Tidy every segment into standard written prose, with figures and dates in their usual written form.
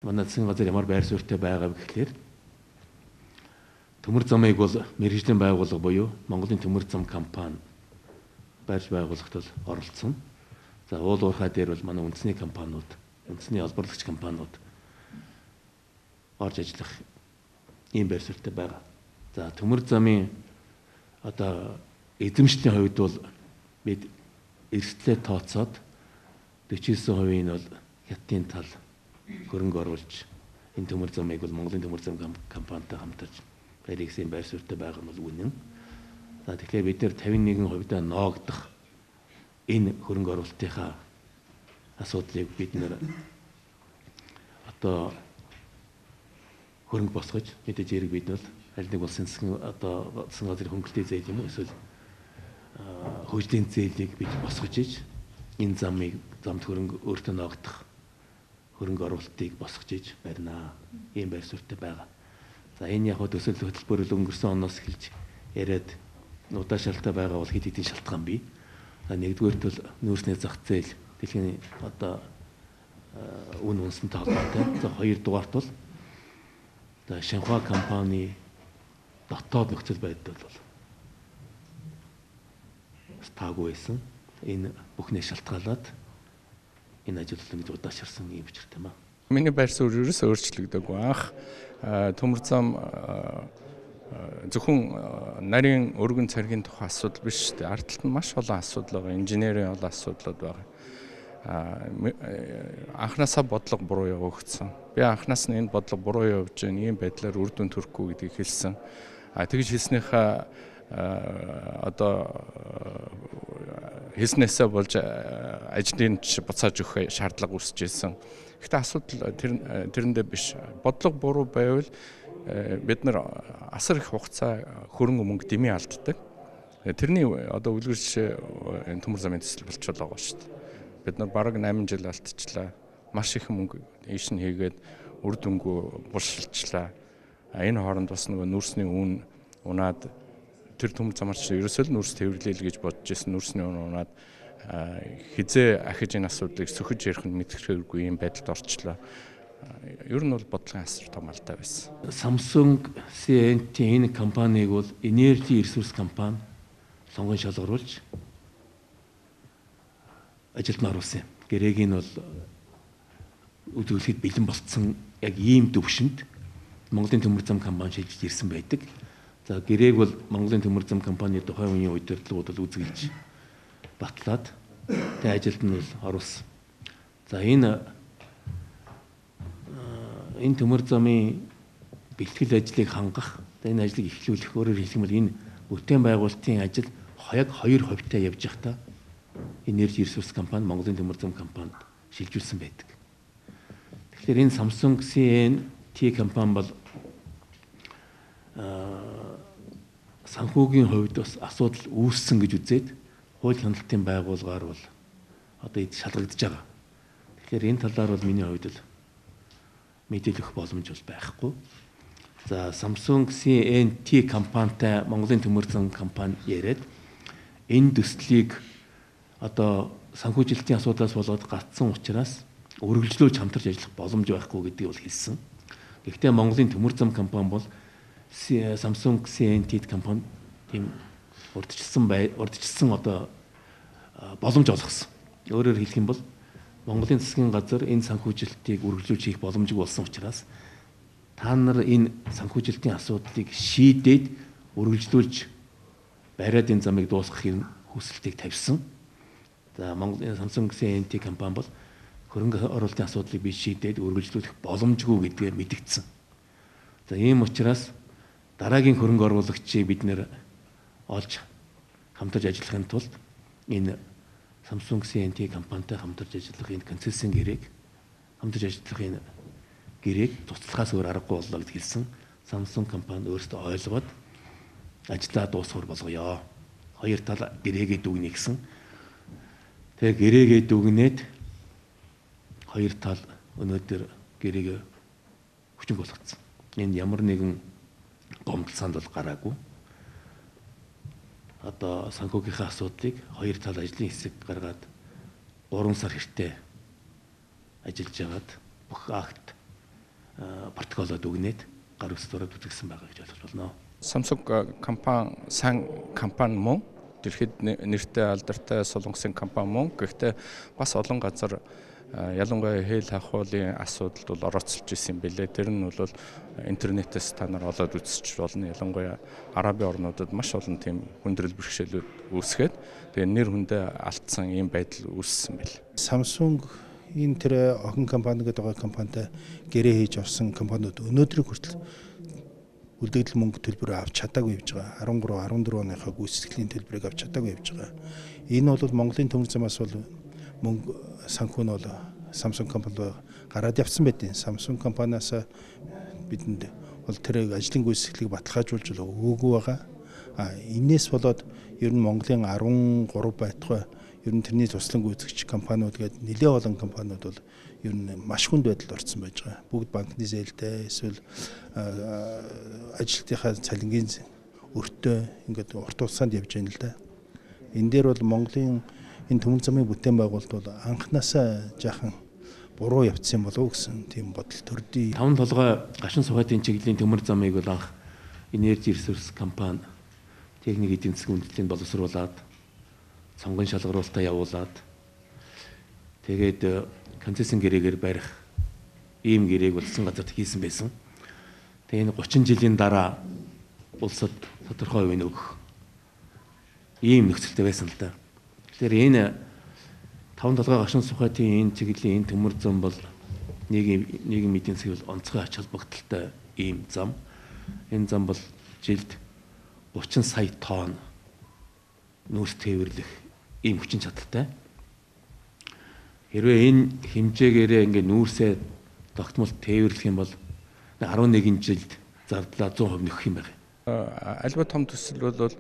Манай засгийн газар ямар байр суурьтай байгаа вэ гэхээр төмөр замыг бол мэргэжлийн байгууллага буюу Монголын төмөр зам компани барьж байгуулахад оролцсон. За уул уурхай дээр бол манай үндэсний компаниуд, үндэсний олборлагч компаниуд орж ажиллах ийм байр суурьтай байгаа. За төмөр замын одоо эзэмшлийн хувьд бол бид эрсдлээ тооцоод 49% нь бол хятадын тал хөрөнгө оруулж энэ төмөр замыг бол Монголын төмөр зам компанитай хамтарч барих гэсэн байр суурьтай байгаа нь бол үнэн. За тэгэхээр бид нэр 51% ноогдох энэ хөрөнгө оруулалтынхаа асуудлыг бид нэр одоо хөрөнгө босгож мэдээж хэрэг бид бол аль нэг улсын одоо засгийн газрын хөнгөлтэй зээл юм уу эсвэл хөгжлийн зээлийг бид босгож иж энэ замд хөрөнгө өөртөө ноогдох хөрөнгө оруулалтыг босгож иж барина. Ийм байр суурьтай байгаа. За энэ яг төсөл хөтөлбөр өнгөрсөн оноос эхэлж яриад удаашралтай байгаа бол хэд хэдийн шалтгаан бий. За нэгдүгээрт бол нүүрсний зах зээл дэлхийн одоо үн үнсэнтэй холбоотой. За хоёрдугаарт бол Шинхua компани дотоод нөхцөл байдал бол таагүй байсан. Энэ бүхнээ шалтгаалаад энэ ажил ингэж удаашрсан юм учиртай маа. Миний байр суурь ерөөсөө өөрчлөгдөөгүй. Анх төмөр зам зөвхөн нарийн өргөн царгийн тухай асуудал биш шүү дээ. Ард талд нь маш олон асуудал байгаа. Инженерийн олон асуудлууд байгаа. Анхнаасаа бодлого буруу явагдсан. Би анхнаас нь энэ бодлого буруу явж байгаа ийм байдлаар үр дүн төрөхгүй гэдгийг хэлсэн. Тэгж хэлснийхаа одоо хэлснээсээ болж ажлын буцааж өгөх шаардлага үүсэж ирсэн. Гэхдээ асуудал тэрэндээ биш. Бодлого буруу байвал бид нар асар их хугацаа хөрөнгө мөнгө дэмий алддаг. Тэрний одоо үлгэр жишээ энэ төмөр замын төсөл болчихлоо байгаа шүү дээ. Бид нар бараг 8 жил алдчихлаа. Маш их мөнгө ийш нь хийгээд үр дүнгүй булшилчлаа. Энэ хооронд бас нөгөө нүүрсний үн унаад тэр төмөр замаарч ерөөсөө л нүүрс тээвэрлэе л гэж бодож ирсэн. Нүүрсний үн унаад хизээ ахиж энэ асуудлыг сөхөж ярих нь мэдрэхүйгүй юм байдалд орчлоо. Ер нь бол бодлогын асар том алдаа байсан. Samsung C&T энэ компаниг бол энержи ресурс компани сонгон шалгаруулж ажилд нь оруулсан юм. Гэрээг нь бол үзүүлэхэд бэлэн болцсон яг ийм төвшөнд Монголын төмөр зам компани шилжиж ирсэн байдаг. За гэрээг бол Монголын төмөр зам компани тухайн үеийн удирдлагууд бол үзгэлж батлаад тэ ажилд нь бол оруулсан. За энэ төмөр замын бэлтгэл ажлыг хангах, энэ ажлыг эхлүүлэх өөрөөр хэлэх юм бол энэ бүтээн байгуулалтын ажил яг 2% явж байхдаа энержи ресурс компани Монголын төмөр зам компанид шилжүүлсэн байдаг. Тэгэхээр энэ Samsung C&T компани бол санхүүгийн хувьд бас асуудал үүссэн гэж үзээд хууль хяналтын байгууллагаар бол одоо шалгагдж байгаа. Тэгэхээр энэ талаар бол миний хувьд л мэдээлэх боломж бол байхгүй. За Samsung C&T компанитай Монголын төмөр зам компани яриад энэ төслийг одоо санхүүжилтийн асуудлаас болоод гацсан учраас үргэлжлүүлж хамтарч ажиллах боломж байхгүй гэдгийг бол хэлсэн. Гэхдээ Монголын төмөр зам компани бол Samsung C&T компани тийм урдчилсан одоо боломж олгосон. Өөрөөр хэлэх юм бол Монголын засгийн газар энэ санхүүжилтийг үргэлжлүүлж хийх боломжгүй болсон учраас та нар энэ санхүүжилтийн асуудлыг шийдээд үргэлжлүүлж бариад энэ замыг дуусгахын хүсэлтийг тавьсан. За Монголын Samsung C&T компани бол хөрөнгө оруулалтын асуудлыг би шийдээд үргэлжлүүлэх боломжгүй гэдгээ мэдгдсэн. За ийм учраас дараагийн хөрөнгө оруулагчийг бид нэр олж хамтарч ажиллахын тулд энэ Samsung C&T компанитай хамтарч ажиллах энэ концессийн гэрээг хамтарч ажиллах энэ гэрээг туслахаас өөр аргагүй боллоо гэж хэлсэн. Samsung компани өөрсдөө ойлгоод ажлаа дуусгах болгоё. Хоёр тал гэрээгээ дүгнэе гэсэн. Тэгээ гэрээгээ дүгнээд хоёр тал өнөөдөр гэрээгээ хүчин болгоцсон. Энд ямар нэгэн гомдол санд бол гараагүй. Одоо санхүүгийнхаа асуудлыг хоёр тал ажлын хэсэг гаргаад 3 сар хэртээ ажиллаж байгаад бүх акт протоколоод өгнээд гар үс дураад үзэгсэн байгаа гэж ойлгож болно. Samsung компани сайн компани мөн дэлхийд нэртэй алдартай солонгосын компани мөн. Гэхдээ бас олон газар ялангуяа хэл хахуулын асуудалд бол орооцолж исэн юм билээ. Тэр нь бол интернетээс та нар олоод үзэж болно. Ялангуяа Арабын орнуудад маш олон тийм хүндрэл бэрхшээлүүд үүсгээд тэгээ нэр хүндээ алдсан ийм байдал үүссэн байл. Samsung энэ тэр охин компани гэдэг байгаа компанитай гэрээ хийж орсон компаниуд өнөөдрийг хүртэл үлдэгдэл мөнгө төлбөрөө авч чадаагүй явж байгаа. 13, 14 оныхаа гүйцэтгэлийн төлбөрийг авч чадаагүй явж байгаа. Энэ бол Монголын төмөр замаас бол мөнгө санхүү нь бол Samsung компани гараад явсан байдیں۔ Samsung компаниас бидэнд бол тэр ажлын гүйцэтгэлийг баталгаажуулж өгөөгүй байгаа. Энээс болоод ер нь Монголын 13 байтугай ер нь тэрний туслан гүйцэтгэгч компаниуд гээд нэлээд олон компаниуд бол ер нь маш хүнд байдалд орсон байж байгаа. Бүгд банкны зээлтэй эсвэл ажилтныхаа цалингийн өртөө ингээд урт улсанд явж байна л да. Энэ дээр бол Монголын энэ төмөр замын бүтээн байгуулалт бол анханасаа жаахан буруу явцсан болов уу гэсэн тийм бодол төрдий. 5 толгой гашин сухатын чиглэлийн төмөр замыг бол анх Energy Resource компани техник эдийн засгийн үндэслэлийг боловсруулад сонгон шалгаруулалтаа явуулаад тэгээд концессийн гэрээгээр барих ийм гэрээг улсын газарт хийсэн байсан. Тэгээ энэ 30 жилийн дараа улсад тодорхой үе өгөх ийм нөхцөлтэй байсан л да. Тэгэхээр энэ 5 толгой гашин сухатын энэ чиглэлийн энэ төмөр зам бол нийгэм эдийн засгийн онцгой ач холбогдолтой ийм зам. Энэ зам бол жилд 30 сая тонн нүүрс тээвэрлэх ийм хүчин чадалтай. Хэрвээ энэ хэмжээгээрээ ингээ нүүрсээ тогтмол тээвэрлэх юм бол 11 жилд зардлаа 100% нөхөх юм байна. Альва том төсөл бол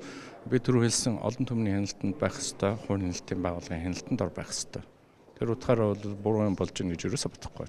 би түрүү хэлсэн олон түмний хяналтанд байх ёстой, хувийн хяналтын байгууллагын хяналтанд ор байх ёстой. Тэр утгаараа бол буруу юм болж ийн гэж ерөөсө бодохгүй.